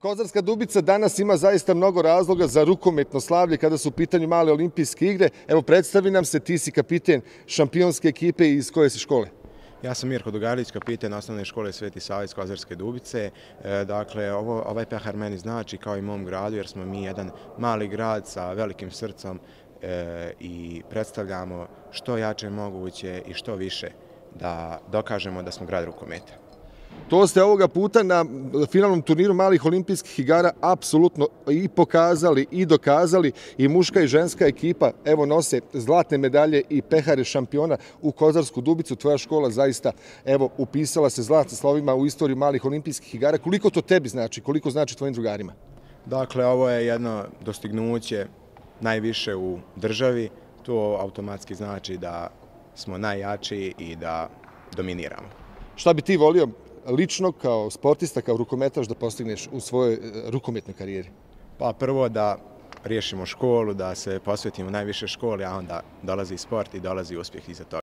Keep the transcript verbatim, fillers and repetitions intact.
Kozarska Dubica danas ima zaista mnogo razloga za rukometno slavlje kada su u pitanju male olimpijske igre. Evo, predstavi nam se, ti si kapiten šampionske ekipe iz koje si škole? Ja sam Mirko Dugarić, kapiten osnovne škole Sveti Sava iz Kozarske Dubice. E, dakle, ovo, ovaj pehar meni znači kao i mom gradu, jer smo mi jedan mali grad sa velikim srcom e, i predstavljamo što jače moguće i što više da dokažemo da smo grad rukometa. To ste ovoga puta na finalnom turniru malih olimpijskih igara apsolutno i pokazali i dokazali, i muška i ženska ekipa evo nose zlatne medalje i pehare šampiona u Kozarsku Dubicu. Tvoja škola zaista evo upisala se zlatnim slovima u istoriju malih olimpijskih igara. Koliko to tebi znači, koliko znači tvojim drugarima? Dakle, ovo je jedno dostignuće najviše u državi. To automatski znači da smo najjači i da dominiramo. Šta bi ti volio lično kao sportista, kao rukometaš da postigneš u svojoj rukometnoj karijeri? Pa prvo da riješimo školu, da se posvetimo najviše školi, a onda dolazi sport i dolazi uspjeh iza toga.